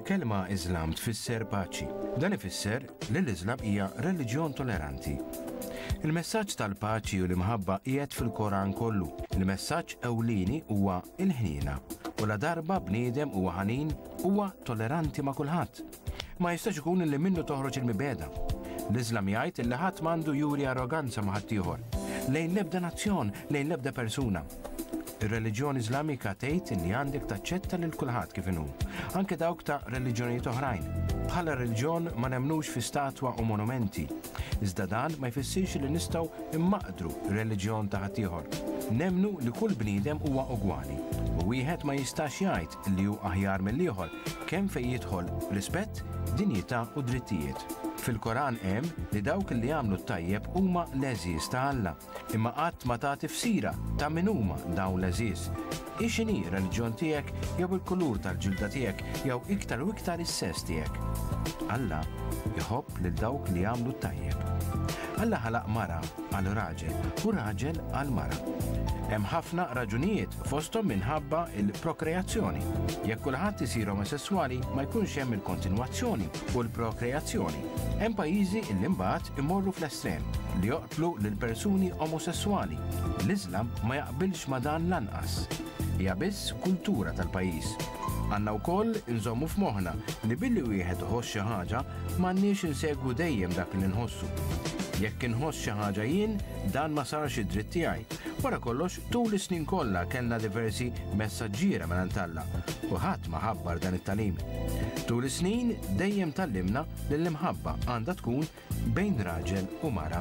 Il-kelma Iżlam tfisser paċi. Dan ifisser li l-Iżlam hija reliġjon toleranti. Il-messaġġ tal-paċi u l-imħabba qiegħed fil-Koran kollu. Il-messaġġ ewlieni huwa l-ħniena. U ladarba bniedem huwa ħanin, huwa toleranti ma' kulħadd. Ma jistax ikun li minnu toħroġ il-mibegħda. L-Iżlam jgħid li ħadd m'għandu juri arroganza ma' ħaddieħor, lejn l-ebda nazzjon, lejn l-ebda persuna. Ir-reliġjon Iżlamika tgħid li għandek taċċetta lil kulħadd kif inhu, anke dawk ta' reliġjonijiet oħrajn. Bħala reliġjon ma nemmnux fi statwa u monumenti, iżda dan ma jfissirx li nistgħu mmaqdru r-reliġjon ta' ħaddieħor. Nemmnu li kull bniedem huwa ugwali u wieħed ma jistax jgħid li hu aħjar mill-ieħor kemm fejn jidħol rispett, dinjità u drittijiet. Fil-Koran hemm li dawk li jagħmlu t-tajjeb huma l-għeżież ta' Alla. Imma qatt ma ta tifsira ta' min huma dawn l-għeżież. Hi x'inhi r-reliġjon tiegħek jew il-kulur tal-ġilda tiegħek jew iktar u iktar is-sess tiegħek. Alla jħobb lil dawk li jagħmlu t-tajjeb. Alla ħalaq mara għal raġel u raġel għal mara. Hemm ħafna raġunijiet fosthom minħabba l-prokreazzjoni. Jekk kulħadd isir omosesswali ma jkunx hemm il-kontinwazzjoni u l-prokreazzjoni. Hemm pajjiżi li mbagħad imorru fl-estrem li joqtlu lil persuni omosesswali. L-Iżlam ma jaqbilx ma' dan lanqas. Hija biss kultura tal-pajjiż. Għandna wkoll inżommu f'moħħna li billi wieħed iħoss xi ħaġa m'għandniex insegwu dejjem dak li nħossu. Jekk inħoss xi ħaġa jien, dan ma sarx id-dritt tiegħi. Wara kollox, tul is-snin kollha kellna diversi messaġġiera mingħand Alla u ħadd ma ħabbar dan it-tagħlim. Tul is-snin dejjem tgħallimna li l-imħabba għandha tkun bejn raġel u mara.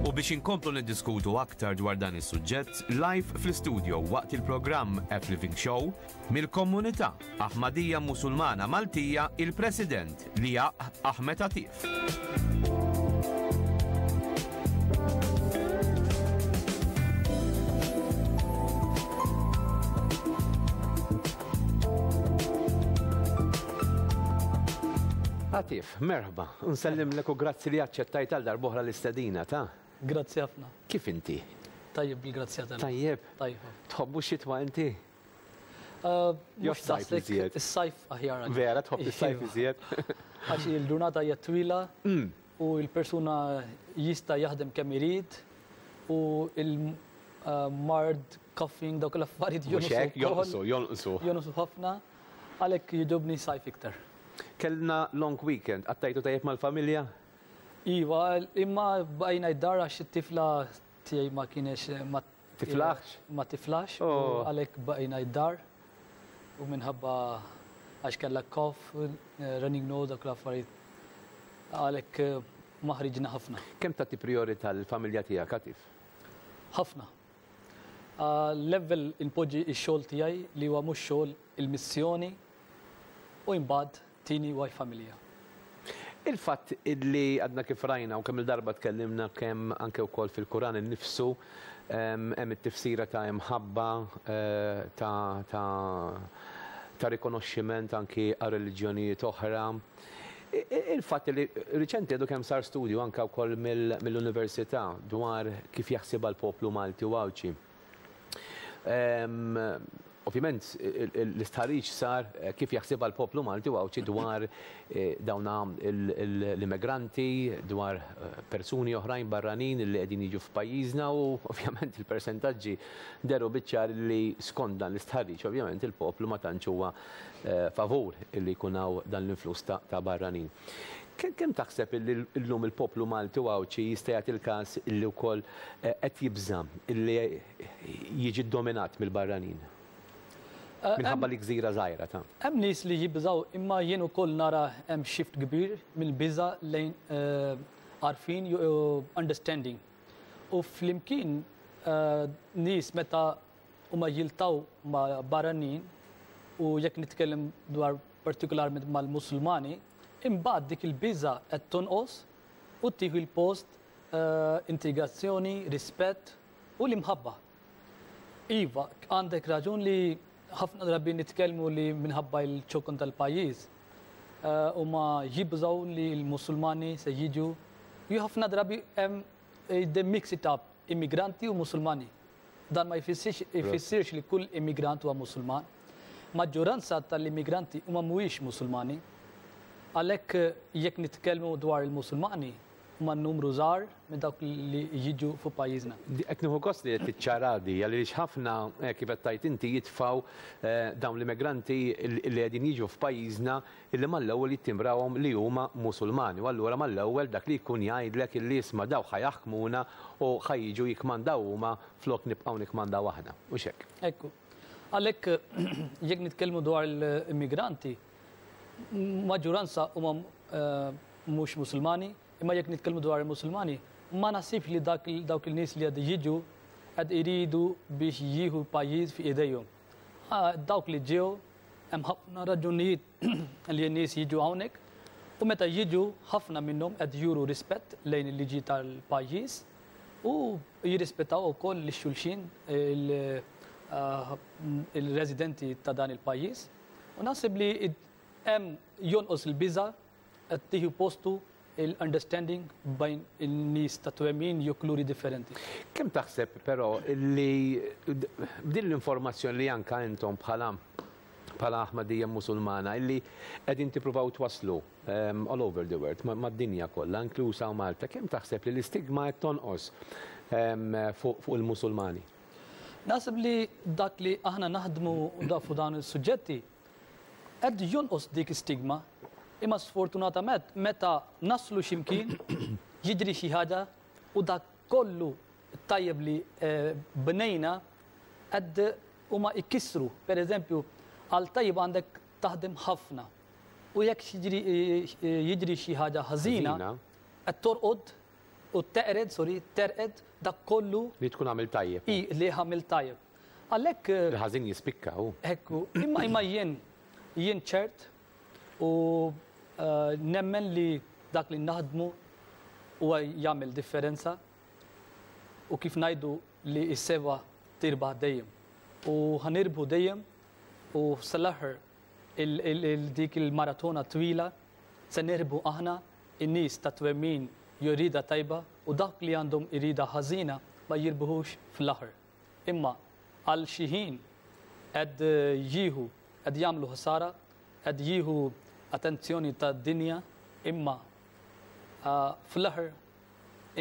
U biex inkomplu niddiskutu aktar dwar dan is-suġġett, live fl-istudio waqt il-programm F Living Show, mill-Komunità Ahmadiyya Musulmana Maltija il-President Liaq Ahmed Atif. Atif, merħba. Nsellimlek u grazzi li aċċettajt għal darb'oħra l-istedina ta'. Grazzi ħafna. Kif inti? Tajjeb bil-grazzja tal. Tajjeb. Tajjeb. Tħobbu xitwa inti? Mhux daqshekk, is-sajf aħjar. Vera tħobb is-sajf Iva. iżjed? Għax il-ġurnata hija twila u l-persuna jista' jaħdem kemm irid u il-mard, coughing, dawk l-affarijiet Mhux jonqsu hekk, wkoll. jonqsu, jonqsu. Jonqsu ħafna, għalhekk jogħġobni sajf iktar. Kellna long weekend, qattajtu tajjeb mal-familja? Iva, imma bqajna id-dar għax it-tifla tiegħi ma kienx ma Tiflaħx? Ma tiflaħx u Oh. għalhekk baqajna id-dar u minħabba għax kellha cough, running nose, dak l-affarijiet. Għalhekk ma ħriġna ħafna. Kemm tagħti priorità lill-familja tiegħek, Atif? Ħafna. L-ewwel inpoġġi x-xogħol tiegħi li huwa mhux xogħol il-missjoni u imbagħad tieni huwa l-familja. Il-fatt illi għadna kif rajna u kemm il-darba tkellimna kemm anke wkoll fil-Kuran innifsu hemm it-tifsira ta' imħabba ta' ta' ta' rikonoxximent anki għal reliġjonijiet oħra. Il-fatt li riċenti għadu kemm sar studju anke wkoll mill-università dwar kif jaħsibha l-poplu Malti u Għawdxi. Ovvjament l-istħarriġ sar kif jaħsibha l-poplu Malti u Għawdxi dwar dawna l-immigranti, dwar persuni oħrajn barranin li qegħdin jiġu f'pajjiżna u ovvjament il-persentaġġi dehru biċ-ċar li skont dan l-istħarriġ ovvjament il-poplu ma tantx huwa favur li jkun hawn dan l-influss ta' barranin. Kemm taħseb li llum il-poplu Malti u Għawdxi jista' jagħti l-każ li wkoll qed jibża' li jiġi ddominat mill-barranin? Minħabba li gżira żgħira ta'. Hemm nies li jibżgħu imma jien ukoll nara hemm shift kbir mill-biża' lejn għarfien u understanding. U flimkien nies meta huma jiltaqgħu ma' barranin u jekk nitkellem dwar partikolarment mal-Musulmani, imbagħad dik il-biża' qed tonqos u tieħu l-post integrazzjoni, rispett u l-imħabba. Iva, għandek raġun li ħafna drabi nitkellmu li minħabba l-ċokon tal-pajjiż huma jibżgħu li l-Musulmani se jiġu. Ju ħafna drabi hemm they mix it up, immigranti u Musulmani. Dan ma jfissirx li kull immigrant huwa Musulman. Maġġoranza tal-immigranti huma mhuwiex Musulmani. Għalhekk jekk nitkellmu dwar il-Musulmani, huma numru żgħar minn dawk li jiġu fuq pajjiżna. Qed nieħu gost li qed tiċċara di, għaliex ħafna kif qed tgħid inti jitfgħu dawn l-immigranti li qegħdin jiġu f'pajjiżna illi mal-ewwel jittimbrawhom li huma Musulmani u allura mal-ewwel dak li jkun jgħidlek illi isma' dawn ħa jaħkmuna u ħa jiġu jikkmandaw huma flok nibqgħu nikkmandaw aħna. Hux hekk? Ekku. Għalhekk jekk nitkellmu dwar l-immigranti, maġġuranza huma mhux Musulmani, imma jekk nitkellmu dwar il-Musulmani, ma naħsibx li dawk il-nies li qed jiġu qed iridu biex jieħu l-pajjiż fi idejhom. Dawk li ġew hemm ħafna raġunijiet li n-nies jiġu hawnhekk u meta jiġu ħafna minnhom qed juru rispett lejn il-liġi tal-pajjiż u jirrispettaw ukoll lil xulxin il-residenti ta' dan il-pajjiż. U naħseb li hemm jonqos il-biża' qed tieħu postu l-understanding bejn in-nies ta' twemmin jew kuluri differenti. Kemm taħseb però li b'din l-informazzjoni li anka intom bħala bħala Aħmadija Musulmana illi qegħdin tippruvaw twasslu all over the world, mad-dinja kollha, inkluż hawn Malta, kemm taħseb li l-istigma qed tonqos fuq il-Musulmani? Naħseb li dak li aħna naħdmu fuq dawn is-suġġetti qed jonqos dik is-stigma, imma sfortunatament meta naslu xi mkien jiġri xi ħaġa u dak kollu tajjeb li bnejna qed huma jkissru. Per eżempju, għal tajjeb għandek taħdem ħafna. U jekk jiġri xi ħaġa ħażina, qed torqod u teqred, sorry, terqed dak kollu li tkun għamil tajjeb. I, li għamil tajjeb. Għalhekk Il-ħażin jispikka u. Ekku, imma jien ċert u nemmen li dak li naħdmu huwa jagħmel differenza u kif ngħidu li s-sewwa tirbaħ dejjem. U ħa nirbħu dejjem u sal-aħħar dik il-maratona twila se nirbħu aħna in-nies ta' twemmin jew rieda tajba u dak li għandhom irida ħażina ma jirbħux fl-aħħar. Imma għal xi ħin qed jieħu qed jagħmlu ħsara, qed jieħu attenzjoni tad-dinja, imma fl-aħħar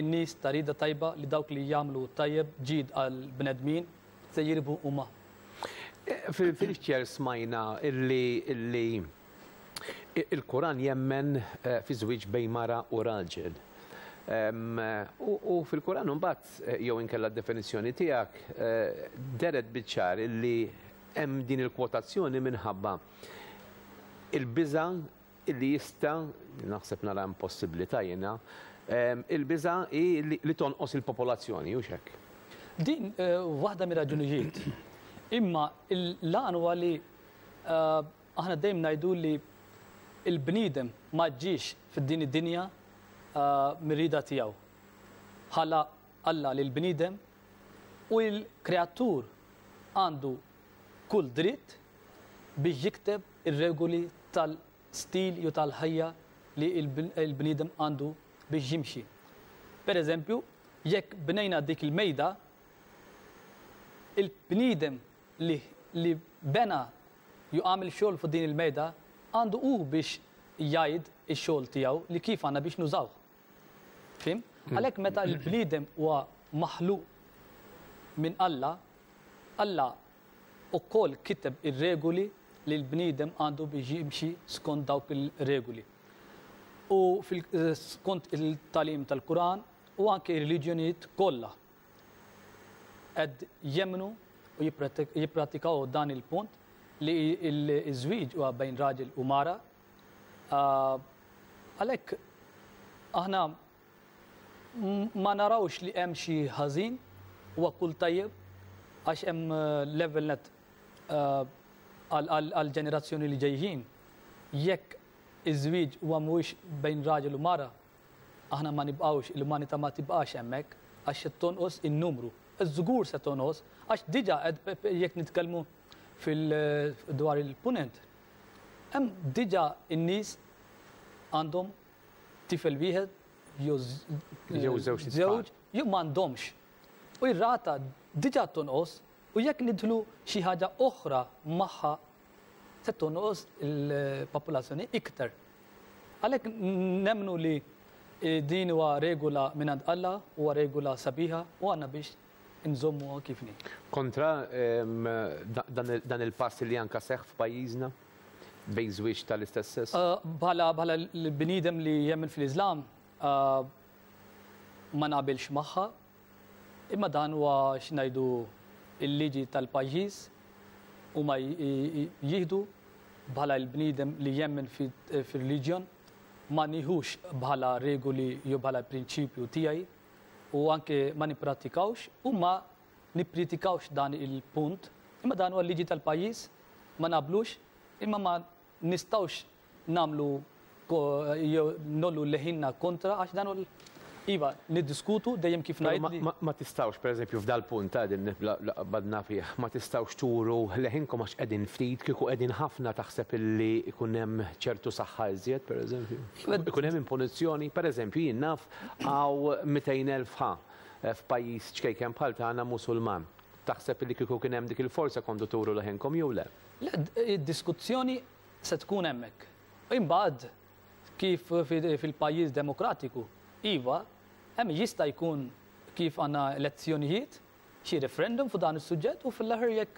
in-nies ta' rieda tajba li dawk li jagħmlu tajjeb ġid għal bnedmin se jirbħu huma. Fil-ċer smajna illi il-Kuran jemmen fi żwieġ bejn mara u raġel. U fil-Kuran mbagħad jew inkella d-definizzjoni tiegħek dehret biċ-ċar illi hemm din il-kwotazzjoni minħabba il-biża' illi jista', naħseb nara impossibilità jiena, il-biża' hi li tonqos il-popolazzjoni, hux hekk? Din waħda mir-raġunijiet. Imma l-għan huwa li aħna dejjem ngħidu li l-bniedem ma ġiex fid-din id-dinja mir-rieda tiegħu. Ħalaq Alla lill-bniedem u l-kreatur għandu kull dritt biex jikteb ir-regoli tal-stil jew tal-ħajja li l-bniedem għandu biex jimxi. Per eżempju, jekk bnejna dik il-mejda, il-bniedem li bena jew għamel xogħol fuq din il-mejda għandu hu biex jgħid ix-xogħol tiegħu li kif għandna biex nużawh. Fim? Għalhekk meta l-bniedem huwa maħluq minn Alla, Alla ukoll kiteb ir-regoli li l-bniedem għandu biex jimxi skont dawk il-regoli. U skont il-tagħlim tal-Kuran u anke r-reliġjonijiet kollha qed jemmnu u jippratikaw dan il-punt li l-żwieġ huwa bejn raġel u mara. Għalhekk aħna ma narawx li hemm xi ħażin, huwa kull tajjeb għax hemm level net għal ġenerazzjoni li ġejjin. Jekk iż-żwieġ huwa mhuwiex bejn raġel u mara, aħna ma nibqgħux, l-umanità ma tibqax hemmhekk għax se tonqos in-numru. Żgur se tonqos għax diġà jekk nitkellmu fil dwar il-punent. Hemm diġà in-nies għandhom tifel wieħed jew Jew żewġ żewġ jew m'għandhomx. U r-rata Diġà tonqos u jekk nidħlu xi ħaġa oħra magħha se tonqos il-popolazzjoni iktar. Għalhekk nemmnu li din huwa regola mingħand Alla, huwa regola sabiħa u għandna biex nżommuha kif inhi. Kontra dan il-pass li anka seħħ f'pajjiżna bejn żwieġ tal-istess sess? Bħala bħala l-bniedem li jemmen fl-Islam ma naqbilx magħha, imma dan huwa x'ngħidu il-liġi tal-pajjiż huma jieħdu. Bħala l-bniedem li jemmen fir-reliġjon ma nieħux bħala regoli jew bħala prinċipju tiegħi u anke ma nipprattikawx u ma nippridikawx dan il-punt, imma dan huwa l-liġi tal-pajjiż, ma naqblux, imma ma nistgħux nagħmlu jew ngħollu leħinna kontra għax dan hu Iva, niddiskutu dejjem kif ngħid li. Ma tistgħux, pereżempju, f'dal-punt ta' din qbadna fih, ma tistgħux turu leħinkom għax qegħdin ftit, kieku qegħdin ħafna taħseb illi jkun hemm ċertu saħħa iżjed, pereżempju? Ikun hemm impożizzjoni? Pereżempju, jien naf hawn 200,000 ha f'pajjiż ċkejken bħal tagħna Musulman. Taħseb illi kieku kien hemm dik il-forza kontu turu leħinkom jew le? Le, id-diskussjoni se tkun hemmhekk. Imbagħad kif fil-pajjiż demokratiku, iva, hemm jista' jkun kif għandna elezzjonijiet, xi referendum fuq dan is-suġġett u fl-aħħar jekk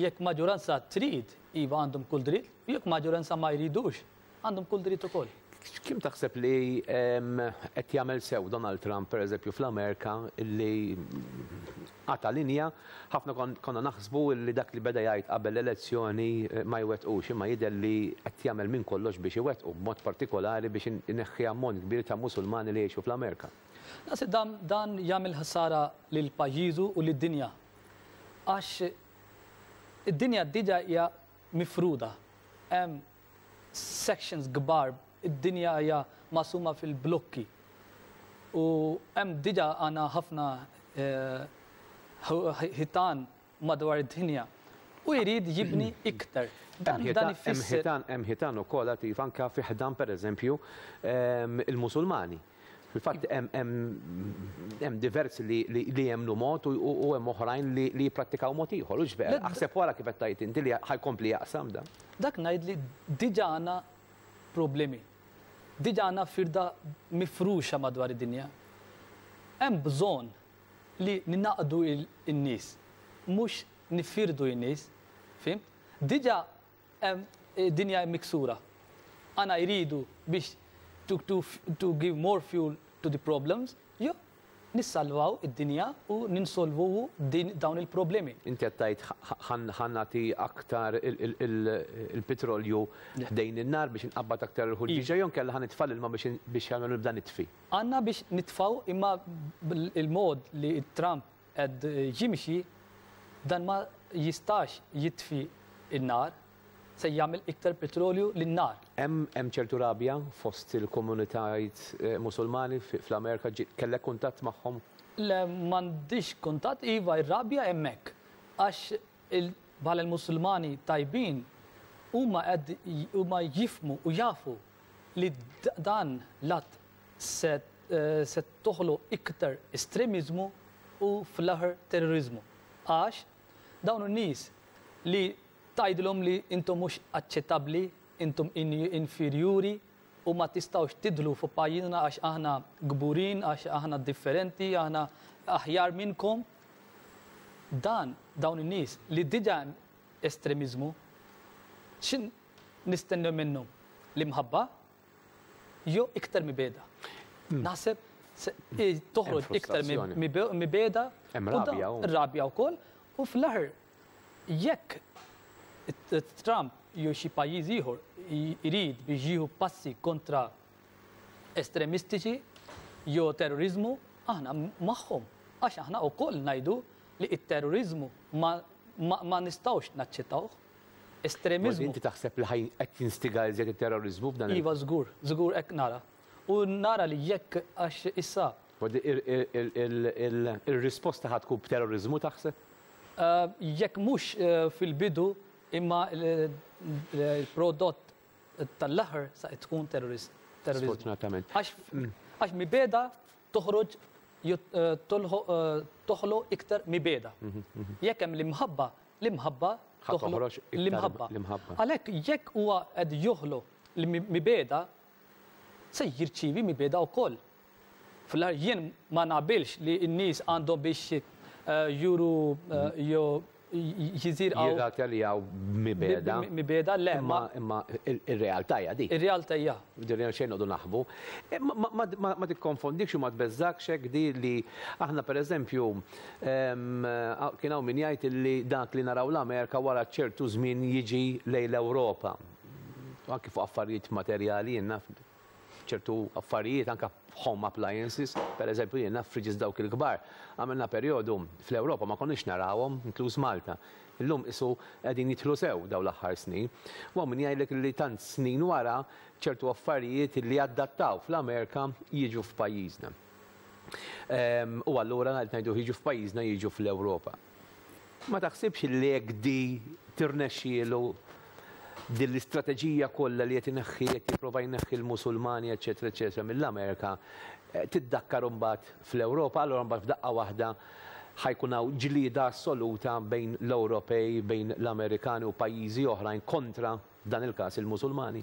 jekk maġġoranza trid, iva għandhom kull dritt, u jekk maġġoranza ma jridux, għandhom kull dritt ukoll. Kemm taħseb li qed jagħmel sew Donald Trump, pereżempju, fl-Amerika li qata' linja? Ħafna konna naħsbu li dak li beda jgħid qabel l-elezzjoni ma jwettqux, imma jidher li qed jagħmel minn kollox biex iwettqu, b'mod partikolari biex ineħħi ammont kbir ta' Musulmani li jgħixu fl-Amerika. Naħseb dan, dan jagħmel ħsara lil pajjiżu u lid-dinja. Għax id-dinja diġà hija mifruda. Hemm sections kbar, id-dinja hija maqsuma fil-blokki. U hemm diġà għandna ħafna ħitan madwar id-dinja. U jrid jibni iktar. Dan ifisser. Hemm ħitan ukoll Atif anke fi ħdan pereżempju il-Musulmani. Fil-fatt hemm diversi li jemmnu mod u hemm oħrajn li jipprattikaw mod ieħor. Hux vera? Aħseb wara kif qed tgħid inti li ħa jkompli jaqsam dan. Dak ngħid li diġà għandna problemi. Diġà għandna firda mifruxa madwar id-dinja. Hemm bżonn li ningħaqdu n-nies, mhux nifirdu n-nies, fhimt? Diġà hemm dinja miksura. Għana jridu biex to, to, to give more fuel to the problems, jew nissalvaw id-dinja u ninsolvu din dawn il-problemi. Inti qed tgħid ħa nagħti aktar il-petrolju ħdejn in-nar biex inqabbad aktar il-ħuġġieġa jew inkella ħa nitfa' l-ilma biex jagħmlu nibda nitfi. Għandna biex nitfgħu imma il-mod li Trump qed jimxi dan ma jistax jitfi n-nar, se jagħmel iktar petrolju lin-nar. Hemm ċertu rabja fost il-komunitajiet Musulmani fl-Amerika, kellek kuntatt magħhom? Le, m'għandix kuntatt, iva r-rabja hemmhekk għax bħala l-Musulmani tajbin huma qed huma jifhmu u jafu li dan l-att se se toħloq iktar estremiżmu u fl-aħħar terroriżmu. Għax dawn in-nies li tgħidilhom li intom mhux aċċettabbli, intom inferjuri u ma tistgħux tidħlu f'pajjiżna għax aħna kburin, għax aħna differenti, aħna aħjar minnkom. Dan dawn in-nies li diġà hemm estremiżmu, x'in nistennew minnhom? L-imħabba? Jew iktar mibegħda. Naħseb toħroġ iktar mibegħda. Hemm rabja. Rabja wkoll u fl-aħħar jekk Trump jew xi pajjiż ieħor irid biex jieħu passi kontra estremistiċi jew terrorizmu, aħna magħhom. Għax aħna wkoll ngħidu li t-terrorizmu ma, ma, ma nistgħux naċċettawh. Estremiżmu. Inti taħseb li ħaj qed jinstiga iżjed it-terrorizmu f'dan Iva, żgur, żgur hekk nara. U nara li jekk għax issa. Il-risposta ħa tkun b'terrorizmu taħseb? Jekk mhux fil-bidu imma l-prodott tal-aħħar sa tkun terrorizmu. Sfortunatament. Għax mibegħda toħroġ. toħloq iktar mibegħda. Jekk hemm l-imħabba, l-imħabba toħloq l-imħabba. Għalhekk jekk huwa qed joħloq l-mibegħda, se jirċievi mibegħda wkoll. Fl-aħħar jien ma naqbilx li n-nies għandhom biex juru jew jiżirqgħu. Jirrataljaw mibegħda. Mibegħda le. Imma ir-realtà hija dik. Ir-realtà hija. Ġifieri xejn noqogħdu naħbu. Ma tikkonfondikx u ma tbeżżakx hekk di li aħna pereżempju kien hawn min jgħid li dak li naraw l-Amerika wara ċertu żmien jiġi lejn l-Ewropa. Anki fuq affarijiet materjali jien naf ċertu affarijiet anke home appliances, per eżempju jien naf fridges dawk il-kbar. Għamilna perjodu fl-Ewropa ma konniex narawhom, inkluż Malta. Illum qisu qegħdin jidħlu sew dawn l-aħħar snin. U hawn min jgħidlek li tant snin wara ċertu affarijiet li adattaw fl-Amerika jiġu f'pajjiżna. U allura qed ngħidu jiġu f'pajjiżna jiġu fl-Ewropa. Ma taħsibx li jekk di tirnexxielu din l-istrateġija kollha li qed ineħħi qed jipprova jneħħi l-Musulmani eċetera eċetera mill-Amerika tiddakkar imbagħad fl-Ewropa, allura mbagħad f'daqqa waħda ħa jkun hawn ġlieda assoluta bejn l-Ewropej, bejn l-Amerikani u pajjiżi oħrajn kontra f'dan il-każ il-Musulmani?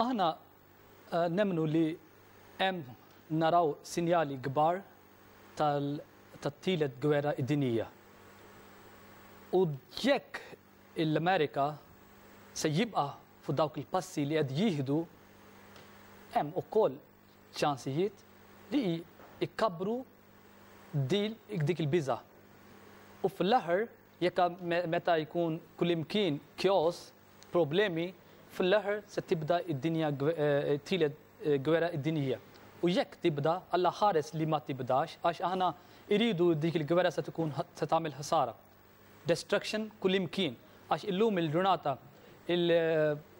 Aħna nemmnu li hemm naraw sinjali kbar tat-tielet gwerra dinjija. U jekk l-Amerika se jibqa' fuq dawk il-passi li qed jieħdu, hemm ukoll ċansijiet li jkabbru dik il-biża'. U fl-aħħar jekk meta jkun kullimkien chaos, problemi, fl-aħħar se tibda id-dinja tielet gwerra dinjija. U jekk tibda, Alla ħares li ma tibdax, għax aħna iridu dik il-gwerra se tkun se tagħmel ħsara. Destruction kullimkien. Għax illum il-ġurnata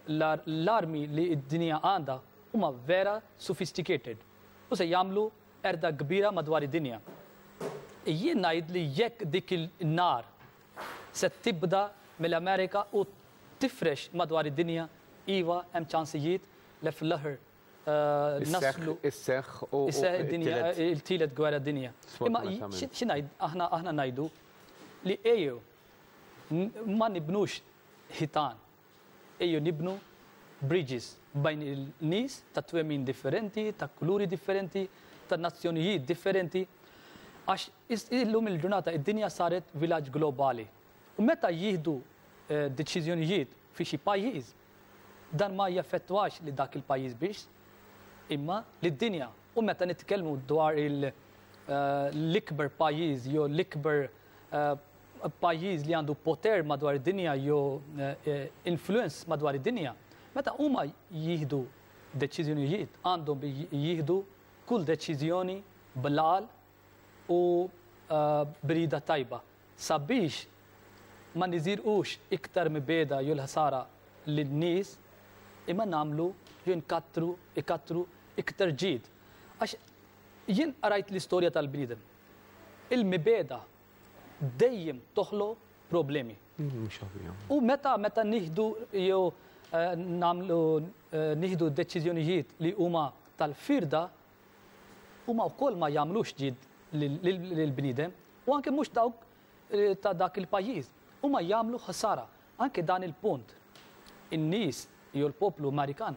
l-armi li d-dinja għandha huma vera sophisticated u se jagħmlu qerda kbira madwar id-dinja. Jien ngħid li jekk dik il-nar se tibda mill-Amerika u tifrex madwar id-dinja, iva hemm ċansijiet li fl-aħħar naslu. Isseħħ u id-dinja il-tielet gwerra dinja. Imma xi ngħid aħna ngħidu li ejjew ma nibnux ħitan, ejjew nibnu bridges bejn il-nies ta' twemmin differenti, ta' kuluri differenti, ta' nazzjonijiet differenti, għax illum il-ġurnata id-dinja saret villaġġ globali. U meta jieħdu deċiżjonijiet fi xi pajjiż, dan ma jaffettwax li dak il-pajjiż biex, imma lid-dinja. U meta nitkellmu dwar l-ikber pajjiż jew l-ikber pajjiż li għandu poter madwar id-dinja jew influence madwar id-dinja, meta huma jieħdu deċiżjonijiet, għandhom jieħdu kull deċiżjoni bl-għaqal u b'rieda tajba sabiex ma niżirqux iktar mibegħda jew l-ħsara lin-nies imma nagħmlu jew nkattru ikattru iktar ġid. Għax jien qrajt l-istorja tal-bniedem. Il-mibegħda dejjem toħloq problemi. U meta meta nieħdu jew nagħmlu nieħdu deċiżjonijiet li huma tal-firda, huma wkoll ma jagħmlux ġid lill-bniedem u anke mhux dawk ta' dak il-pajjiż. Huma jagħmlu ħsara. Anke dan il-punt, in-nies jew l-poplu Amerikan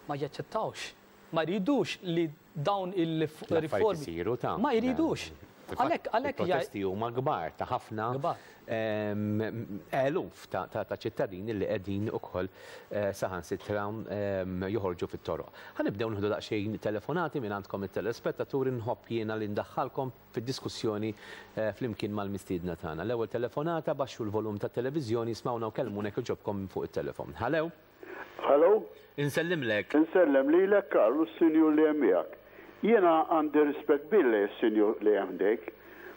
ma jaċċettawx, ma jridux li dawn il-riformi. Ma jridux. Għalhekk għalhekk il-protesti huma kbar ta' ħafna eluf ta' ċittadini li qegħdin ukoll saħansitra joħorġu fit-toroq. Ħa nibdew nieħdu daqsxejn telefonati minn għandkom it-telespettaturi nħobb jiena li ndaħħalkom fid-diskussjoni flimkien mal-mistiedna tagħna. L-ewwel telefonata baxxu l-volum tat-televiżjoni ismgħuna u kellmuna jekk jogħġobkom minn fuq it-telefon. Hello? Hello? Insellimlek. Insellem lilek Karl u s-sinjur li hemm miegħek. Jiena għandi rispett kbir lejn is-sinjur li hemm ħdejk.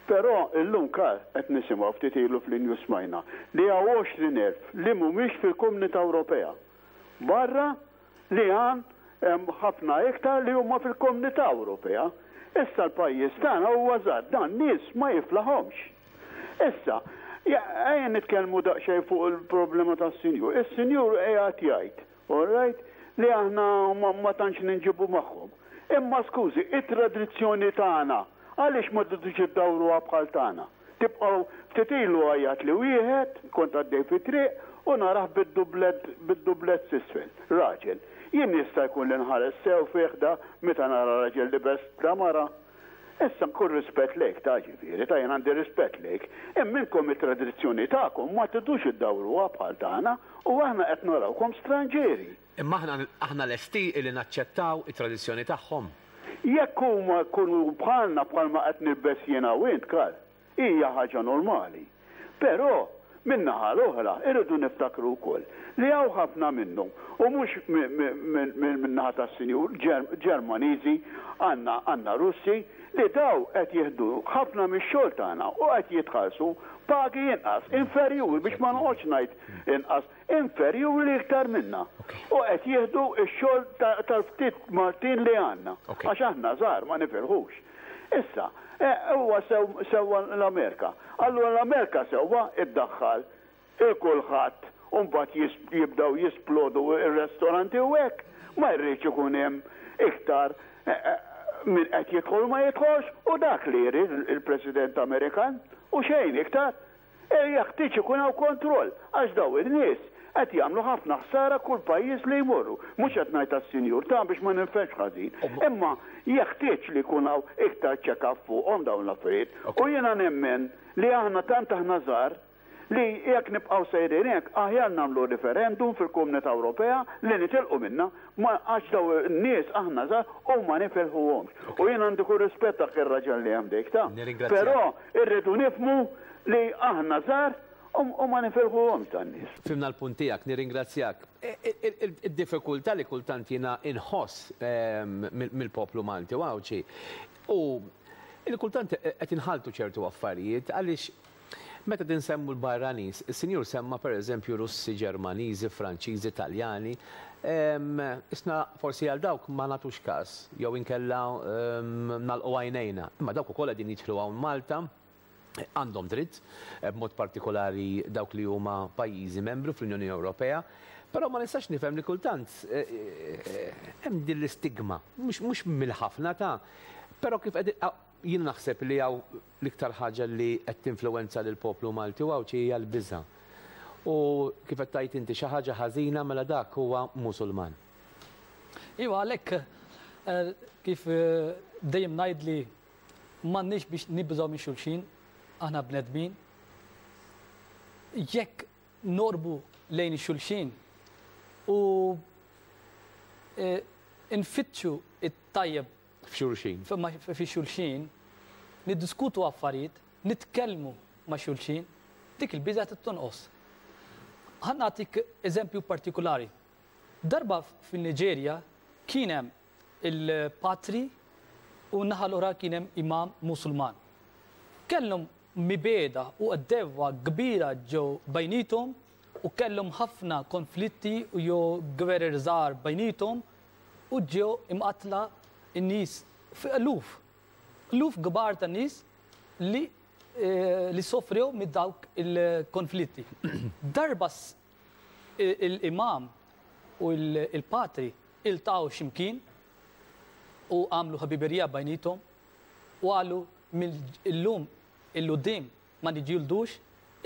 Però illum Karl qed nisimgħu ftit ilu fl-news smajna li hawn 20,000 li mhumiex fil-Kumnità Ewropea. Barra li hawn hemm ħafna iktar li huma fil-Kumnità Ewropea. Issa l-pajjiż tagħna huwa żgħar, dan nies ma jiflaħhomx. Issa, ejja nitkellmu daqsxejn fuq il-problema tas-sinjur. Is-sinjur qiegħed jgħid, all right, li aħna ma tantx ninġibu magħhom. Imma skużi, it-tradizzjoni tagħna għaliex ma tridux iddawruha bħal tagħna? Tibqgħu ftit ilu għajjatli wieħed, kont għaddej fit-triq, u narah bid-dublett bid-dublett s'isfel. Raġel. Jien jista' jkun li nħares sew fih da meta nara raġel libes ta' mara? Issa nkun rispett lejk ta' ġifieri ta' jien għandi rispett lejk. Imma inkom it-tradizzjoni tagħkom ma tridux iddawruha bħal tagħna u aħna qed narawkom stranġieri. Imma aħna aħna lesti illi naċċettaw it-tradizzjoni tagħhom? Jekk huma jkunu bħalna bħalma qed nilbes jiena u int, Karl, hija ħaġa normali. Però, min-naħa l-oħra, irridu niftakru wkoll li hawn ħafna minnhom, u mhux min-naħa tas-sinjur, Ġermaniżi, għandna għandna Russi, li dawn qed jieħdu ħafna mix-xogħol tagħna u qed jitħallsu pagi inqas, inferjuri, biex ma noqgħodx ngħid inqas, inferjuri iktar minna. U qed jieħdu x-xogħol tal-ftit Maltin li għandna. Għax aħna żgħar ma nifilħux. Issa, huwa sewwa l-Amerika. Allura l-Amerika sewwa iddaħħal 'il kulħadd u mbagħad jibdew jisplodu r-restoranti u hekk. Ma jridx ikun hemm iktar min qed jidħol u ma jidħolx u dak li jrid il-President Amerikan u xejn iktar. Jeħtieġ ikun hawn kontroll għax dawn in-nies qed jagħmlu ħafna ħsara kull pajjiż li jmorru. Mhux qed ngħid għas-sinjur ta' biex ma ninfehmx ħażin. Imma jeħtieġ li jkun hawn iktar check up fuqhom dawn l-affarijiet. U jiena nemmen li aħna tant aħna żgħar li jekk nibqgħu sejrin hekk aħjar nagħmlu referendum fil-Komunità Ewropea li nitilqu minnha ma għax dawn in-nies aħna żgħar u ma nifilħuhomx. U jien għandi kull rispett dak ir-raġel li hemm dik ta'. Però irridu nifhmu Li aħna żgħar u ma nifirħuhomx dan-nies. Fhimna l-punt tiegħek, nirringrazzjak. Id-diffikultà li kultant jiena inħoss mill-poplu Malti u Għawdxi hu li kultant qed inħalltu ċertu affarijiet għaliex meta qed insemmu l-barranin, is-sinjur semma pereżempju Russi, Ġermaniżi, Franċiżi, Taljani, isna forsi għal dawk ma nagħtux każ jew inkella nagħlqu għajnejna. Imma dawk ukoll qegħdin jidħlu hawn Malta għandhom dritt, b'mod partikolari dawk li huma pajjiżi membru fl-Unjoni Ewropea, però ma nistax nifhem li kultant hemm din l-istigma, mhux mill-ħafna ta' però kif qed jien naħseb li hawn l-iktar ħaġa li qed tinfluwenza lill-poplu Malti u Għawdxi hija l-biża'. U kif qed tgħid inti xi ħaġa ħażina mela dak huwa Musulman. Iva għalhekk kif dejjem ngħid li M'għandniex biex nibżgħu minn xulxin, aħna bnedmin. Jekk noqrbu lejn xulxin u nfittxu t-tajjeb f'xulxin. Fi xulxin, niddiskutu affarijiet, nitkellmu ma' xulxin, dik il-biża' tonqos. Ħa nagħtik eżempju partikulari. Darba fin-Niġerja kien hemm il-patri u n-naħa l-oħra kien hemm imam Musulman. Kellhom mibegħda u għaddewwa kbira ġew bejniethom u kellhom ħafna konflitti u jew gwerer żgħar bejniethom u ġew imqattla n-nies eluf, eluf kbar ta' nies li li sofrew minn dawk il-konflitti. Darba il-imam u l-patri iltaqgħu xi mkien u għamlu ħbiberija bejniethom u qalu mill-lum 'il quddiem ma niġġieldux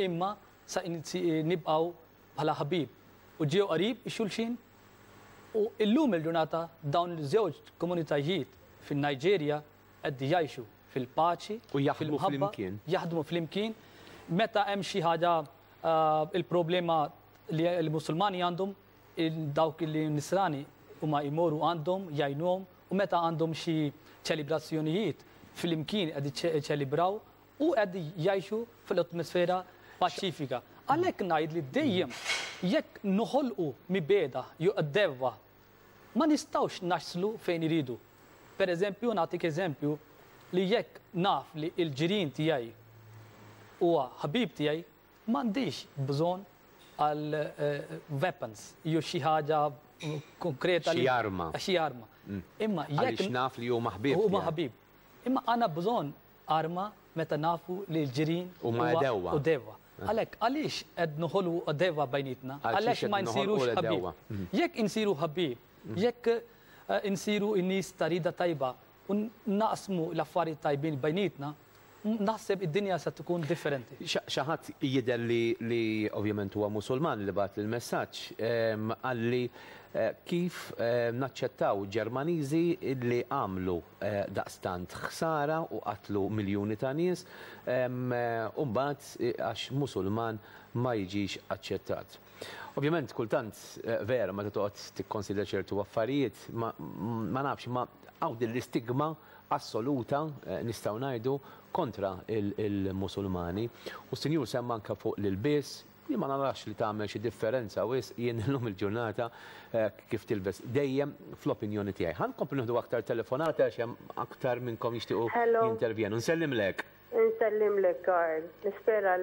imma sa nibqgħu bħala ħbieb u ġew qrib xulxin u illum il-ġurnata dawn iż-żewġ komunitajiet fin-Niġerja qed jgħixu fil-paċi, U jaħdmu fil-mħabba, flimkien. jaħdmu flimkien. Meta hemm xi ħaġa il-problema li l-Musulmani għandhom, dawk li nisrani huma jmorru għandhom, jgħinuhom, u meta għandhom xi ċelebrazzjonijiet flimkien qed jiċċelebraw u qed jgħixu fl-atmosfera paċifika. Għalhekk ngħid li dejjem jekk noħolqu mibegħda jew għaddewwa ma nistgħux naslu fejn iridu. Per eżempju, nagħtik eżempju li jekk naf li l-ġirien tiegħi huwa ħabib tiegħi, m'għandix bżonn għal weapons jew xi ħaġa konkreta. Xi arma. Xi arma. Imma jekk Għaliex naf li huma ħbieb. Huma ħabib. Imma għandna bżonn arma meta nafu li l-ġirien huma għedewwa. Għedewwa. Għalhekk għaliex qed noħolqu għedewwa bejnietna? Għaliex ma nsirux ħbieb? Jekk insiru ħbieb, jekk insiru n-nies ta' rieda tajba u naqsmu l-affarijiet tajbin bejnietna, naħseb id-dinja se tkun differenti. Xi ħadd jidher li ovvjament huwa Musulman li bagħat il-messaġġ qalli kif naċċettaw Ġermaniżi li għamlu daqstant ħsara u qatlu miljuni ta' nies u mbagħad għax Musulman ma jiġix aċċettat. Ovvjament kultant vera meta toqgħod tikkonsidra ċertu affarijiet ma nafx ma hawn din l-istigma assoluta nistgħu ngħidu kontra il-Musulmani. U s-Sinjur semma anke fuq l-ilbies, li ma narax li tagħmel xi differenza wisq jien illum il-ġurnata kif tilbes dejjem fl-opinjoni tiegħi. Ħa nkomplu nieħdu aktar telefonati għax hemm aktar minnkom jixtiequ jintervjenu. Nsellimlek. Nsellimlek Karl. Nispera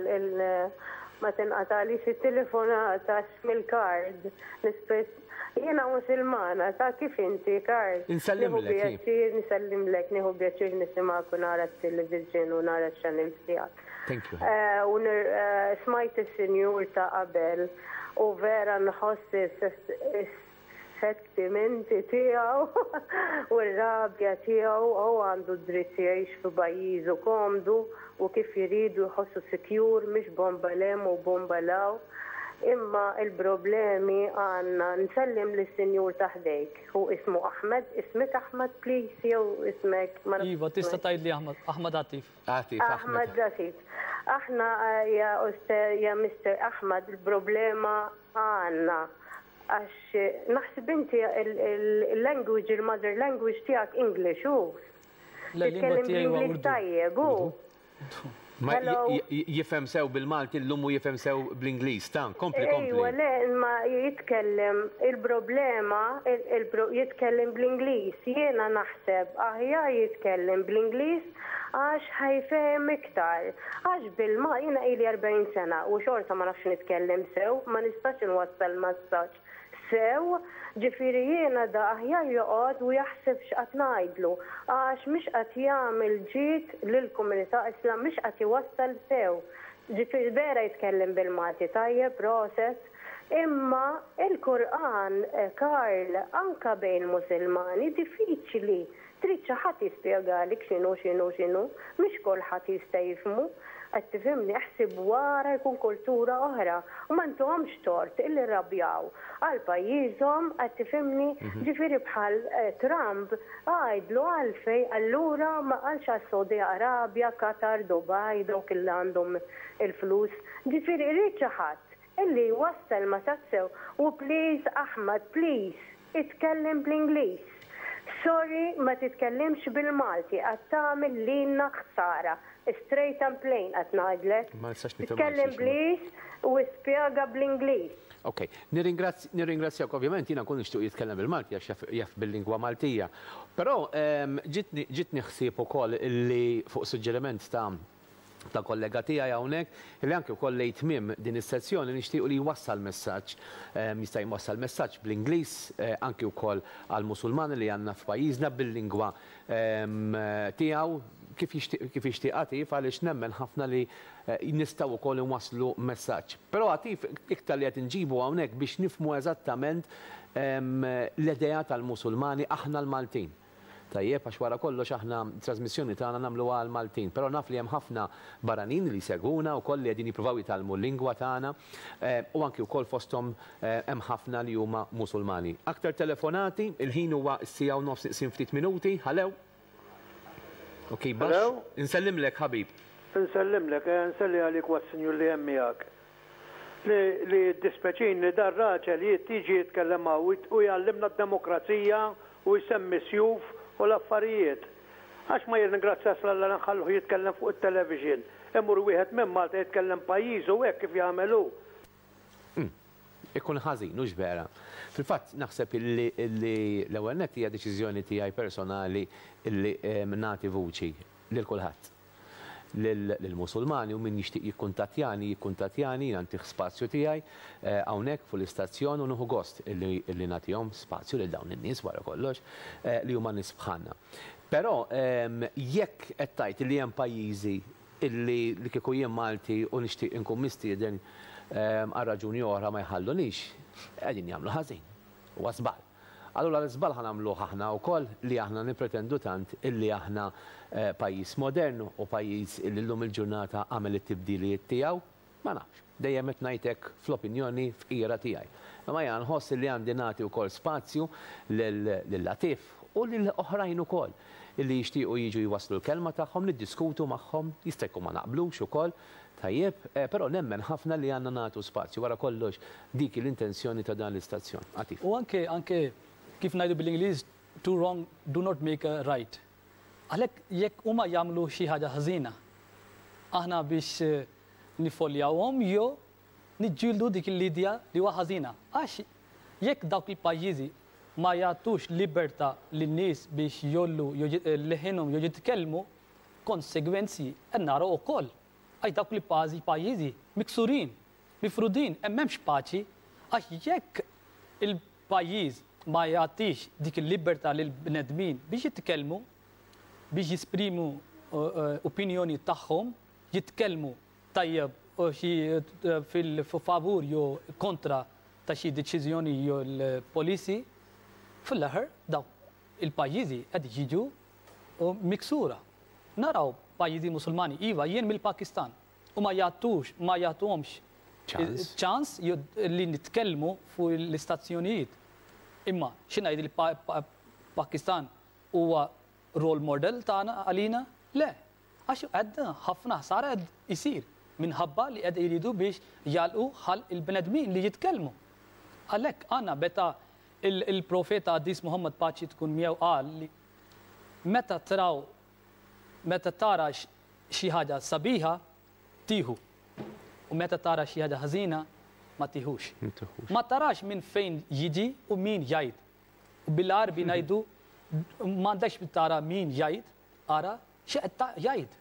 ma tinqatalix it-telefonata għax mill-kard. Jiena Musulmana, ta' kif inti Karl? Nsellimlek. Nieħu pjaċir, nsellimlek, nieħu pjaċir nisimgħek u nara t-television u nara x-channels tiegħek. Thank you. U smajt is-sinjur ta' qabel u vera nħoss is-sentimenti tiegħu u r-rabja tiegħu. Hu għandu dritt jgħix fi pajjiżu komdu u kif jridu jħossu secure, mhix bomba lem u bomba law. Imma il-problemi għandna. Nsellim lis-sinjur ta' ħdejk. Hu ismu Ahmed, ismek Ahmed please jew ismek ma nafx. Iva, tista' tgħidli Ahmed, Ahmed Atif. Atif, Ahmed Atif. Aħna ja Ustaz, ja Mr. Ahmed, il-problema għandna għax naħseb inti il-language, il-mother language tiegħek English hu. La-lingwa Titkellem tiegħi huwa bl-Ingliż Urdu. tajjeb hu. Ma Hello. jifhem sew bil-Malti llum u jifhem sew bl-Ingliż, ta' kompli kompli. Ejwa, le, ma jitkellem il-problema jitkellem bl-Ingliż. Jiena naħseb aħjar jitkellem bl-Ingliż għax ħa jifhem iktar. Għax bil-ma jiena ili 40 sena u xorta ma nafx nitkellem sew, ma nistax inwassal messaġġ sew, ġifieri jiena da aħjar joqgħod u jaħseb x'qed ngħidlu għax mhix qed jagħmel ġid lill-komunità Islam, mhix qed iwassal sew. Ġifieri vera jitkellem bil-Malti tajjeb, proset, imma il-Kur'an, Karl, anka bejn Musulmani diffiċli. Trid xi ħadd jispjegalek x'inhu x'inhu x'inhu, mhix kulħadd jista' jifhmu. Qed tifhimni, ħsib wara jkun kultura oħra u ma ntuhomx tort illi rrabjaw għal pajjiżhom, qed tifhimni, ġifieri bħal Trump għajdlu għalfej allura ma qalx għal Saudi Arabia, Qatar, Dubai, dawk illi għandhom il-flus. Ġifieri irid xi ħadd illi jwassal ma sew u please Ahmad, please, itkellem bl-Ingliż. Sorry, ma titkellimx bil-Malti, qed tagħmel lilna ħsara. Straight and plain qed ngħidlek. Ma nistax nifhem Titkellem għalxiex, bl-Ingliż u spjega bl-Ingliż. Ok, nirringrazzjak ovvjament jiena nkun nixtieq jitkellem bil-Malti għax jaf bil-lingwa Maltija. Però ġitni ħsieb ukoll illi fuq suġġeriment ta' kollega tiegħi hawnhekk li anke wkoll lejn tmiem din is-sezzjoni nixtiequ li jwassal messaġġ, jista' jwassal messaġġ bl-Ingliż anke wkoll għall-Musulmani li għandna f'pajjiżna bil-lingwa tiegħu kif jixtieq Atif, għaliex nemmen ħafna li nistgħu wkoll inwasslu messaġġ. Però Atif iktar li qed inġibu hawnhekk biex nifhmu eżattament l-idea tal-Musulmani aħna l-Maltin. Tajjeb, għax wara kollox aħna trasmissjoni tagħna nagħmluha għal Maltin, però naf li hemm ħafna barranin li jsegwuna wkoll li qegħdin jippruvaw jitgħallmu l-lingwa tagħna u anki wkoll fosthom hemm ħafna li huma Musulmani. Aktar telefonati, il-ħin huwa s-siegħa u nofs iqsim ftit minuti. Hello. Ok, baxx. Hello. Insellimlek ħabib. Insellimlek, nselli għalik was-sinjur li hemm miegħek. Li dispeċin li dar raġel jiġi jitkellem hawn u jgħallimna d-demokrazija u jsemmi sjuf u l-affarijiet. Għax ma jirringrazzjax l-Alla nħalluh jitkellem fuq it-television. Imur wieħed minn Malta jitkellem pajjiżu hekk kif jagħmelu. Ikun ħażin, hux vera. Fil-fatt naħseb illi l-ewwel nett hija deċiżjoni tiegħi personali illi nagħti vuċi lil kulħadd. Lill-Musulmani u min jixtieq jikkuntattjani, jikkuntattjani, jiena ntih spazju tiegħi hawnhekk fuq l-istazzjon u nieħu gost illi nagħtihom spazju lil dawn in-nies wara kollox li huma nies bħalna. Però jekk qed tgħid li hemm pajjiżi illi li kieku jien Malti u nixtieq inkun mistieden għal raġuni oħra ma jħallunix, qegħdin jagħmlu ħażin. Huwa żball. Allura l-iżball ħa nagħmluh aħna wkoll li aħna nippretendu tant illi aħna pajjiż modern u pajjiż illi llum il-ġurnata għamel it-tibdiliet tiegħu? Ma nafx. Dejjem qed ngħid hekk fl-opinjoni fqira tiegħi. Imma jiena nħoss illi għandi nagħti wkoll spazju lil Latif u lil oħrajn ukoll illi jixtiequ jiġu jwasslu l-kelma tagħhom, niddiskutu magħhom, jista' jkun ma naqblux ukoll, tajjeb, però nemmen ħafna li għandna nagħtu spazju. Wara kollox dik hi l-intenzjoni ta' dan l-istazzjon. Atif. U anke anke kif ngħidu bil-Ingliż two wrong do not make a right. Għalhekk jekk huma jagħmlu xi ħaġa ħażina, aħna biex niffoljawhom jew niġġieldu dik l-idea li huwa ħażina. Għax jekk dawk il-pajjiżi ma jagħtux libertà lin-nies biex jgħollu leħinhom jew jitkellmu, konsegwenzi qed naraw ukoll. Għax dawk il-pażi pajjiżi miksurin, mifrudin, hemm m'hemmx paċi. Għax jekk il-pajjiż ma jagħtix dik il-libertà lill-bnedmin biex jitkellmu, biex jesprimu opinjoni tagħhom, jitkellmu tajjeb xi fil-favur jew kontra ta' xi deċiżjoni jew l-policy, fl-aħħar dawk il-pajjiżi qed jiġu miksura. Naraw pajjiżi Musulmani, iva, jien mill-Pakistan, u ma jagħtux, ma jagħtuhomx ċans li nitkellmu fuq l-istazzjonijiet. Imma xi ngħid il-Pakistan huwa role model tagħna għalina? Le. Għax qed ħafna ħsara qed isir minħabba li qed iridu biex jagħlqu ħalq il-bnedmin li jitkellmu. Għalhekk għandna meta il-profeta Qaddis Muhammad paċi tkun miegħu qal li meta traw meta tara xi ħaġa sabiħa tieħu u meta tara xi ħaġa ħażina ma tieħux. Ma tarax minn fejn jiġi u min jgħid. U bil-Għarbi ngħidu m'għandekx tara min jgħid, ara x'qed jgħid.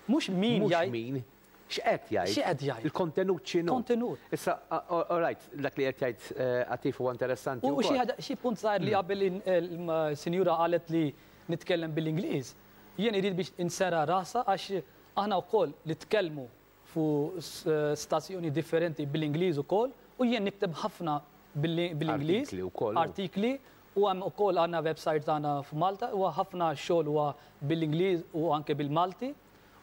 Mhux min jgħid. Mhux min, x'qed jgħid. X'qed jgħid. Il-kontenut x'inhu. Kontenut. Issa, all right, dak li qed jgħid Atif huwa interessanti. U xi ħaġa, xi punt żgħir li qabel il-sinjura qalet li nitkellem bil-Ingliż, jien irid biex insera rasha għax aħna wkoll li tkellmu fuq stazzjoni differenti bil-Ingliż ukoll u jien nikteb ħafna bil-Ingliż. Artikli wkoll. Artikli u hemm ukoll għandna website tagħna f'Malta huwa ħafna xogħol huwa bil-Ingliż u anke bil-Malti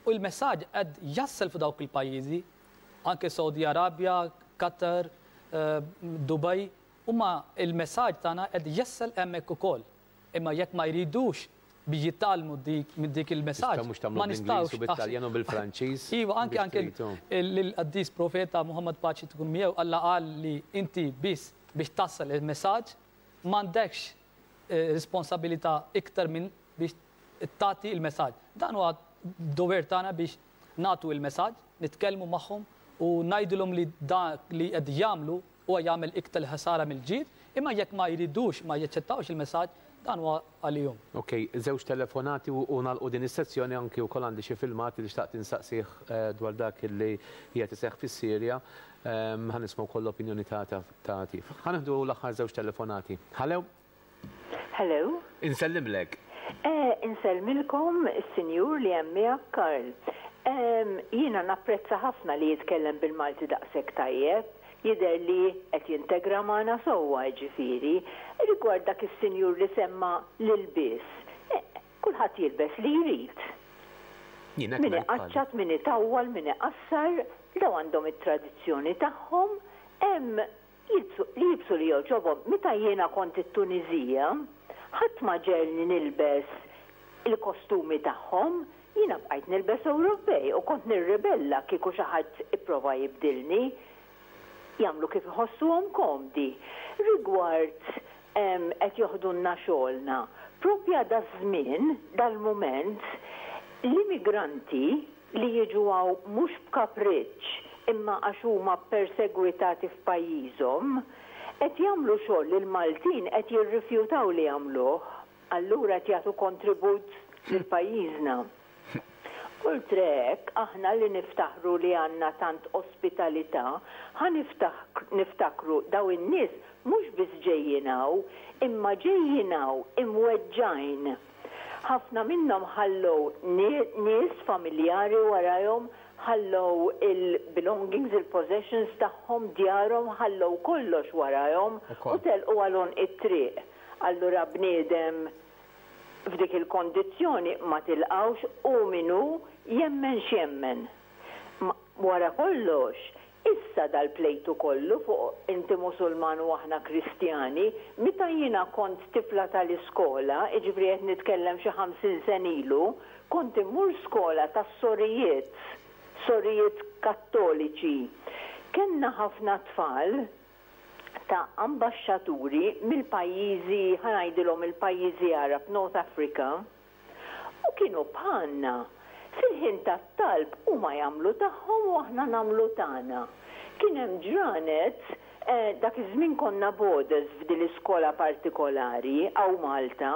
u l-messaġġ qed jassel f'dawk il-pajjiżi anke Saudi Arabia, Qatar, Dubai, huma il-messaġġ tagħna qed jassel hemmhekk ukoll. Imma jekk ma jridux biex jitgħallmu dik minn dik il-messaġġ. Mhux tagħmlu bl-Ingliż u bit-Taljan u bil-Franċiż. Iva, anke anke l-qaddis profeta Muhammad paċi tkun miegħu Alla qal li inti biss biex tassal il-messaġġ m'għandekx responsabilità iktar minn biex tagħti il-messaġġ. Dan huwa dover tagħna biex nagħtu il-messaġġ, nitkellmu magħhom u ngħidulhom li dak li qed jagħmlu huwa jagħmel iktar ħsara mill-ġid, imma jekk ma jridux ma jaċċettawx il-messaġġ, dan huwa għalihom. Ok, żewġ telefonati u nagħlqu din is-sezzjoni anki wkoll għandi xi filmati li xtaqt insaqsih dwar dak li qiegħed iseħħ fis-Sirja. Ħa nisma' wkoll l-opinjoni ta' Atif. Ħa nieħdu l-aħħar żewġ telefonati. Hello? Hello? Insellimlek. Insellmilkom is-sinjur li hemm miegħek Karl. Jiena napprezza ħafna li jitkellem bil-Malti daqshekk tajjeb. Jidher li qed jintegra magħna sewwa jiġifieri. Rigward dak is-sinjur li semma l-ilbies, kulħadd jilbes li jrid. Min iqaċċat, min itawwal, min iqassar, dawn għandhom it-tradizzjoni tagħhom, hemm jilbsu li jilbsu li jogħġobhom. Meta jiena kont it-Tuniżija, ħadd ma ġegħelni nilbes il-kostumi tagħhom, jiena bqajt nilbes Ewropej u kont nirribella kieku xi ħadd ipprova jibdilni. Jagħmlu kif iħossuhom komdi. Rigward qed joħdulna xogħolna, propja daż-żmien, dal-mument, l-immigranti li jiġu hawn mhux b'kapriċċ imma għax huma ppersegwitati f'pajjiżhom, qed jagħmlu xogħol li l-Maltin qed jirrifjutaw li jagħmluh. Allura qed jagħtu kontribut lil pajjiżna. Oltre hekk, aħna li niftaħru li għandna tant ospitalità, ħa niftakru daw in-nies mhux biss ġejjin hawn, imma ġejjin hawn imweġġgħin. Ħafna minnhom ħallew nies familjari warajhom, Ħallew il-belongings, il-possessions tagħhom, djarhom, ħallew kollox warajhom u telqu għal għonq it-triq. Allura bniedem f'dik il-kondizzjoni ma tilqgħux hu min hu, jemmen x'jemmen. Wara kollox, issa dal-plejtu kollu fuq inti Musulman u aħna Kristjani, meta jiena kont tifla tal-iskola, jiġifieri qed nitkellem xi 50 sena ilu, kont immur skola tas-sorijiet, sorijiet Kattoliċi. Kellna ħafna tfal ta' ambaxxaturi mill-pajjiżi, ħa ngħidilhom il-pajjiżi Għarab, North Africa, u kienu bħalna. Fil-ħin tat-talb huma jagħmlu tagħhom u aħna nagħmlu tagħna. Kien hemm ġranet, dak iż-żmien konna boarders f'din l-iskola partikolari hawn Malta,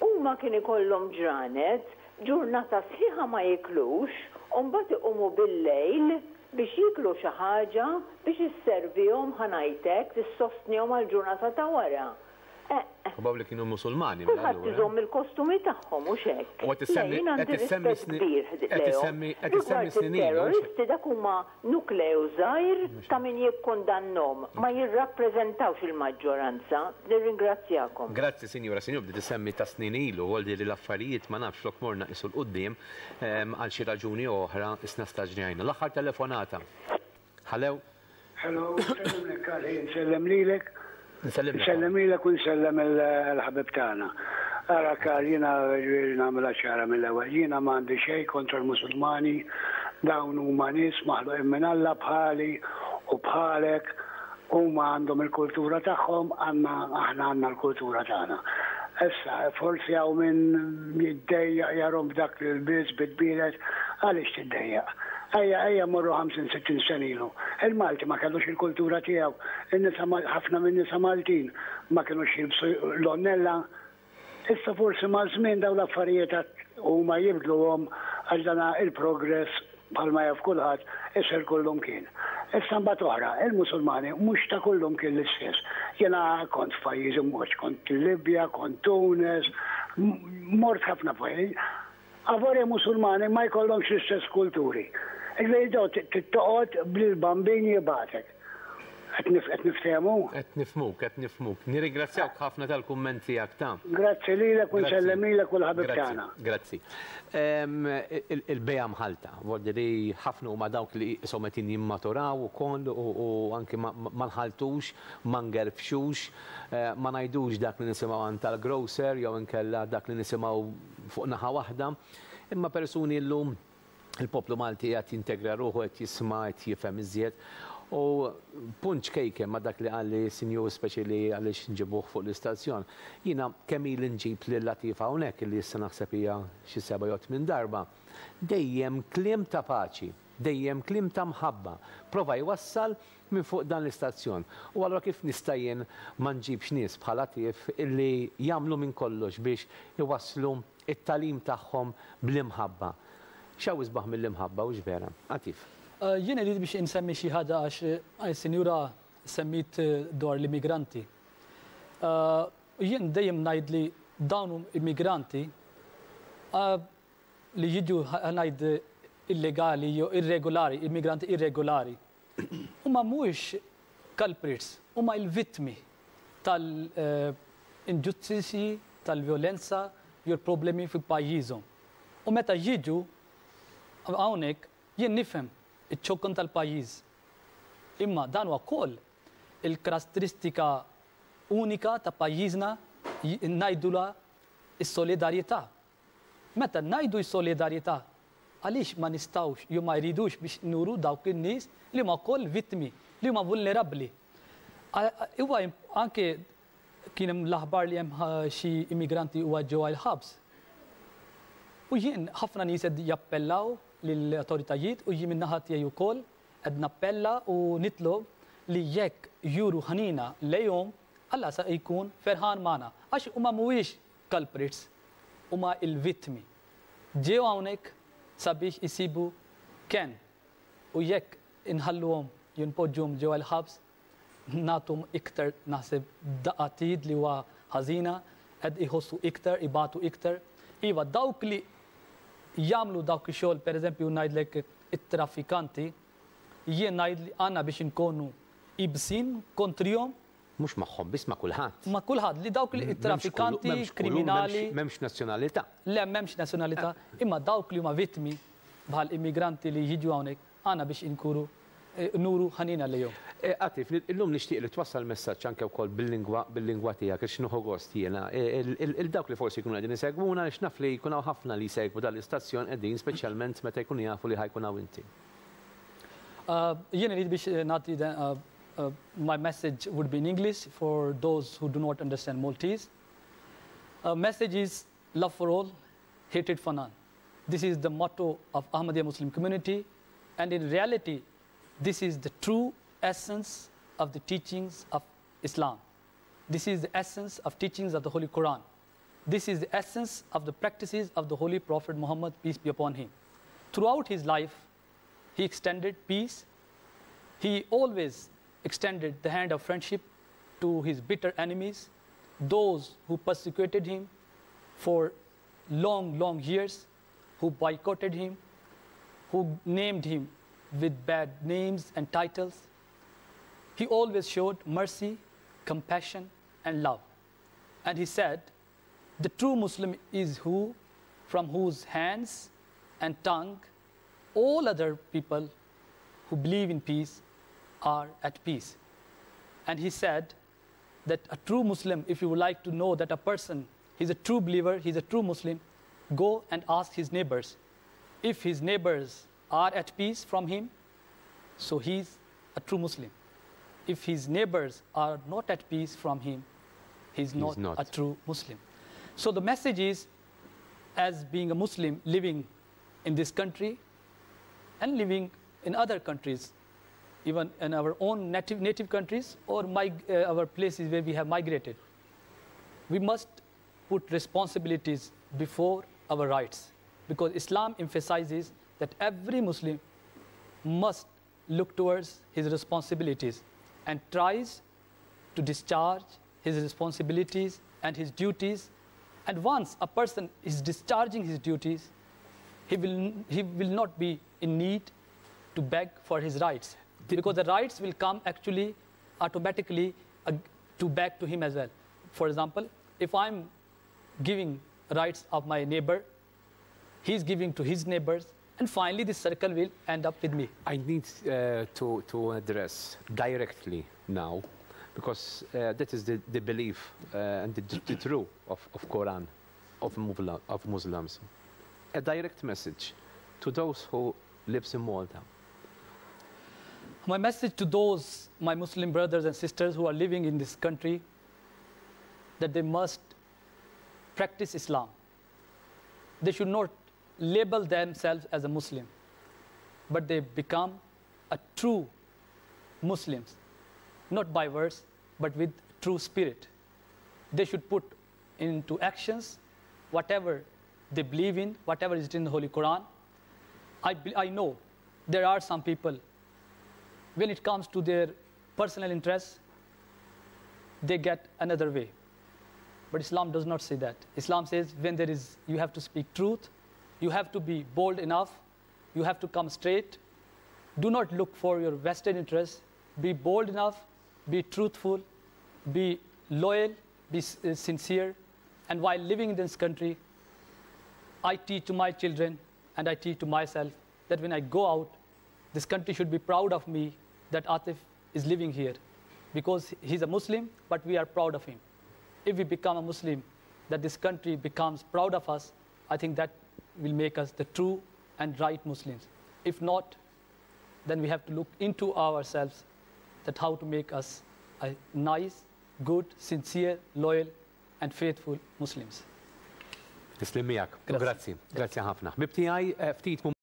huma kien ikollhom ġranet, ġurnata sħiħa ma jiklux u mbagħad iqumu bil-lejl biex jieklu xi ħaġa biex isservihom, ħa ngħid hekk, issostnihom għall-ġurnata ta' wara. Probabbli kienu Musulmani mela Kulħadd allura. iżomm il-kostumi tagħhom, hux hekk? U qed Le, issemmi jien qed għandi issemmi rispett sni kbir qed lejhom. issemmi qed issemmi Rigward snin ilu, hux hekk? it-terroristi dak huma nukleu żgħir ta' min jikkundannhom, ma jirrappreżentawx il-maġġoranza. Nirringrazzjakom. Grazzi sinjura. Sinjur bdiet issemmi ta' snin ilu, voldi li l-affarijiet ma nafx flok morna qisu 'l quddiem, għal xi raġuni jew oħra isna staġnjajna. L-aħħar telefonata. Hallo. Hello, nsellimlek Karl, nsellem lilek. Nsellimlek. Nsellem lilek u nsellem il-ħabib tagħna. Ara Karl, jiena ġifieri nagħmilha ċara mill-ewwel. Jiena m'għandi xejn kontra l-Musulmani, dawn huma nies maħluqin minn Alla bħali u bħalek Huma għandhom il-kultura tagħhom, għandna aħna għandna l-kultura tagħna. Issa, forsi hawn min jiddejjaq jarhom b'dak l-ilbies, bit-tbielet, għaliex tiddejjaq? Ejja, ejja mmorru 50, 60 sena ilu. Il-Malti ma kellux il-kultura tiegħu, in-nisa ħafna min-nisa Maltin ma kinux jilbsu l-għonnella, Issa forsi maż-żmien dawn l-affarijiet għad huma jibdluhom għax dan il-progress bħalma jaf kulħadd isir kullumkien. Issa mbagħad oħra, il-Musulmani mhux ta' kullumkien l-istess. Jiena kont f'pajjiżi mhux, kont il-Libja, kont Tunis, mort ħafna pajjiżi. Avolja Musulmani ma jkollhomx l-istess kulturi. Jiġifieri dawn trid toqgħod bl-bambin jibgħatek. Qed niftehmu? Qed nifhmuk, qed nifhmuk. Nirringrazzjawk ħafna tal-kumment tiegħek ta'. Grazzi lilek u nsellem lilek u l-ħabib tagħna. Grazzi. Il-bejgħa mħallta, vuol li ħafna huma dawk li qishom qegħdin jimmaturaw ukoll u anki ma nħalltux, ma ngerfxux, ma ngħidux dak li nisimgħu għand tal-grocer jew inkella dak li nisimgħu fuq naħa waħda, imma persuni llum il-poplu Malti qiegħed jintegra ruħu, qed jisma', qed jifhem iżjed. U punt ċkejken ma' dak li qalli s-sinjur speċi li għaliex nġibuh fuq l-istazzjon. Jiena kemm ili nġib lil Latifa hawnhekk illi issa naħseb hija xi seba' jew tmien darba, dejjem kliem ta' paċi, dejjem kliem ta' mħabba, prova jwassal minn fuq dan l-istazzjon. U allura kif nista' jien ma nġibx nies bħal Atif illi jagħmlu minn kollox biex iwasslu t-tagħlim tagħhom bl-imħabba? X'hawn isbaħ mill-imħabba, hux vera? Atif. Jien irrid biex insemmi xi ħaġa għax is-sinjura semmiet dwar l-immigranti. Jien dejjem ngħid li dawn immigranti li jiġu ħa ngħid illegali jew irregolari, immigranti irregolari, huma mhuwiex culprits, huma l-vittmi tal-inġustizzji, tal-vjolenza jew l-problemi fi pajjiżhom. U meta jiġu hawnhekk jien nifhem iċ-ċokon tal-pajjiż. Imma dan huwa wkoll il-karatteristika unika ta' pajjiżna ngħidulha s-solidarjetà. Meta ngħidu s-solidarjetà, għaliex ma nistgħux jew ma jridux biex nuru dawk in-nies li huma wkoll vittmi, li huma vulnerabbli. Huwa anke kien hemm l-aħbar li hemm xi immigranti huwa ġewwa l-ħabs. U jien ħafna nies qed jappellaw lill-awtoritajiet u jien min-naħa tiegħi wkoll qed nappella u nitlob li jekk juru ħnina lejhom, Alla sa jkun ferħan magħna. Għax huma mhuwiex culprits, huma l-vittmi. Ġew hawnhekk sabiex isibu kenn u jekk inħalluhom jew npoġġuhom ġewwa l-ħabs nagħtuhom iktar naħseb daqqa t'id li huwa ħażina, qed iħossu iktar, ibatu iktar. Iva, dawk li jagħmlu dawk ix-xogħol, pereżempju ngħidlek it-traffikanti, jien ngħid li għandna biex inkunu ibsin kontrihom. Mhux magħhom biss, ma' kulħadd. Ma' kulħadd, li dawk li traffikanti, kriminali. M'hemmx nazzjonalità. Le, m'hemmx nazzjonalità, imma dawk li huma vittmi bħal immigranti li jiġu hawnhekk, għandna biex inkunu nuru ħanina lejhom. Atif, illum nixtieq li twassal messaġġ anke wkoll bil-lingwa bil-lingwa tiegħek għax nieħu gost jiena il dawk li forsi jkunu qegħdin isegwuna għaliex naf li jkun hawn ħafna li jsegwu dan l-istazzjon qegħdin speċjalment meta jkunu jafu li ħa jkun hawn inti. Jien irid biex nagħti my message would be in English for those who do not understand Maltese. Message is love for all, hatred for none. This is the motto of Ahmadiyya Muslim community, and in reality, this is the true essence of the teachings of Islam. This is the essence of teachings of the Holy Quran. This is the essence of the practices of the Holy Prophet Muhammad, peace be upon him. Throughout his life, he extended peace. He always extended the hand of friendship to his bitter enemies, those who persecuted him for long, long years, who boycotted him, who named him with bad names and titles. He always showed mercy, compassion, and love. And he said, the true Muslim is who, from whose hands and tongue all other people who believe in peace are at peace. And he said that a true Muslim, if you would like to know that a person, he's a true believer, he's a true Muslim, go and ask his neighbors. If his neighbors are at peace from him, so he's a true Muslim. If his neighbors are not at peace from him, he's not a true Muslim. So the message is, as being a Muslim living in this country and living in other countries, even in our own native countries or our places where we have migrated, we must put responsibilities before our rights, because Islam emphasizes that every Muslim must look towards his responsibilities and tries to discharge his responsibilities and his duties. And once a person is discharging his duties, he will not be in need to beg for his rights, because the rights will come actually automatically to beg to him as well. For example, if I'm giving rights of my neighbor, he's giving to his neighbors, and finally this circle will end up with me. I need to address directly now, because that is the belief and the truth of Quran, of Muslims. A direct message to those who lives in Malta. My message to those, my Muslim brothers and sisters who are living in this country, that they must practice Islam. They should not label themselves as a Muslim, but they become a true Muslims, not by words, but with true spirit. They should put into actions whatever they believe in, whatever is written in the Holy Quran. I know there are some people, when it comes to their personal interests, they get another way. But Islam does not say that. Islam says when there is, you have to speak truth, you have to be bold enough, you have to come straight. Do not look for your vested interests. Be bold enough, be truthful, be loyal, be sincere. And while living in this country, I teach to my children and I teach to myself that when I go out, this country should be proud of me that Atif is living here, because he's a Muslim, but we are proud of him. If we become a Muslim, that this country becomes proud of us, I think that will make us the true and right Muslims. If not, then we have to look into ourselves that how to make us a nice, good, sincere, loyal, and faithful Muslims. Tislim miegħek. Grazzi. Grazzi ħafna. Ħbib tiegħi ftit